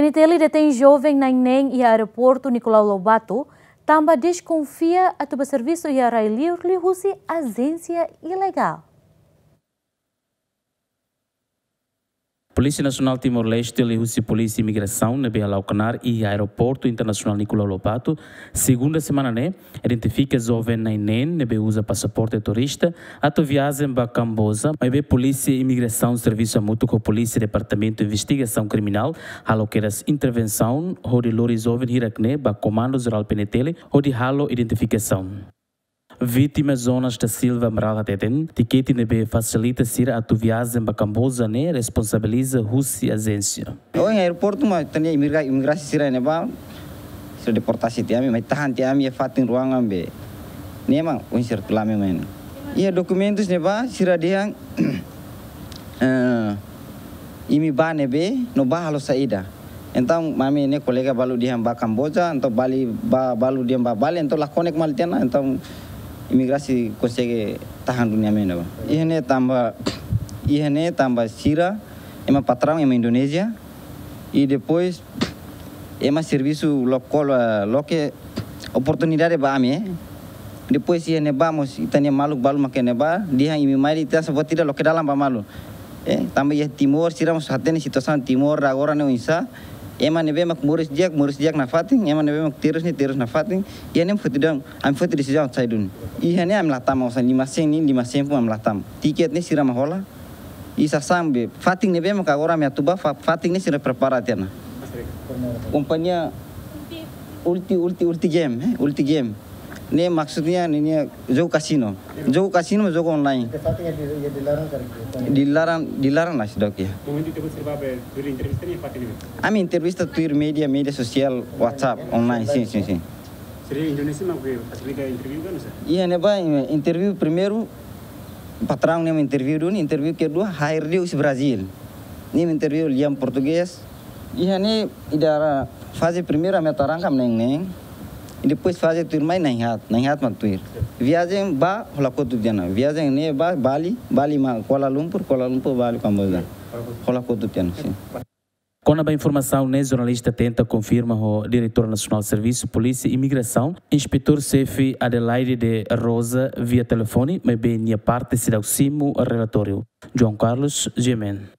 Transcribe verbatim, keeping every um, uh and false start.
P N T L detein joven na'in-neen iha aeroportu Nicolau Lobato, tanba deskonfia atu bá servisu iha rai-li'ur liuhusi ajénsia ilegál. Polísia Nasionál Timor-Leste liuhusi Polísia Imigrasaun ne'ebé hala'o knaar iha Aeroportu Internasionál Nicolau Lobato, segunda semana ne'e, identifika joven na'in-neen ne'ebé uza pasaporte turista atu viajen ba Kamboja, maibé Polísia Imigrasaun servisu hamutuk ho Polísia Departamentu Investigasaun Kriminál halo kedas intervensaun hodi lori joven hirak-ne'e ba Komandu Jerál P N T L hodi halo identifikasaun. Vítima Jonas da Silva Amaral hateten, tikete ne'ebé fasilita sira atu viajen ba Kamboja ne'e responsabiliza husi ajénsia. Ohin aeroportu mak ita-nia imigra-, imigrasi sira ne'ebá, sira deportasi tiha ami, mai tahan tiha ami iha fatin ruangan be. Ne'e mak ohin sira tula ami mai ne'e. Iha dokumentus ne'ebá, sira dehan, eh, imi bá ne'ebé, no bá halo saida. Entaun, ami-nia kolega balu dehan bá Kamboja, entaun balu bá, balu dehan bá Bali, entaun la konek malu tiha ona, entaun imigrasi konsege tahan duni ami ne'ebá. Iha ne'e tanba, iha ne'e tanba sira, ema patraun, ema Indonézia, i depois, ema servisu lokál, eh, loke oportunidade ba ami, eh. Depois iha ne'ebá mós ita-nia maluk balu mak iha ne'ebá, dehan imi mai de'it, asa buat ida loke dalan ba malu. Eh, tanba iha Timor, sira mós hatene situasaun Timor, agora ne'e oinsá, ema ne'ebé mak moris di'ak, moris di'ak nafatin, ema ne'ebé mak terus ne'e, terus nafatin, iha ne'e foti dehan, ami foti desizaun sai duni. Iha ne'e ami la tama, osan lima sen ne'e, lima sen pun ami la tama. Tiket ne'e sira mak hola, i sasán be, fatin ne'ebé mak agora ami atu bá, fa-, fatin ne'e sira prepara tiha ona. Kompañia Ulti, Ulti, Ulti Game, eh, Ulti Game. Ne'e maksudnya ne'e, ne'e jogu kasino. Jogu kasino, jogu online. Fatin ne'e di, di larang karik. Di larang, di larang la seidauk iha. Momentu ita-boot sira bá be, tuir entrevista ne'e fatin ne'e. Ami entrevista tuir média, média sosiál, WhatsApp, online, sin, sin, sin. Sira Indonézia mak be fasilita interview ka, no sé? Iha ne'ebá, interview primeiru, patraun ne'e mak interview duni, interview kedua, hire de'it husi Brazil. Ne'e mak interview lian portugés. Iha ne'e ida faze primeiru ami atu arranka na'in-neen. I depois faze tuirmai na'in-haat, na'in-haat mak tuir. Viajen bá hola kotuk tiha ona. Viajen ne'e bá Bali, Bali mak Kuala Lumpur, Kuala Lumpur Bali Kamboja. Hola kotuk tiha ona, sin. Kona-ba informasaun ne'e, jornalista tenta konfirma ho Diretór Nasionál Servisu Polísia Imigrasaun, Inspetór Xefe Adelaide de Rosa, via telefone, maibé nia parte seidauk simu relatóriu. João Carlos, G M N.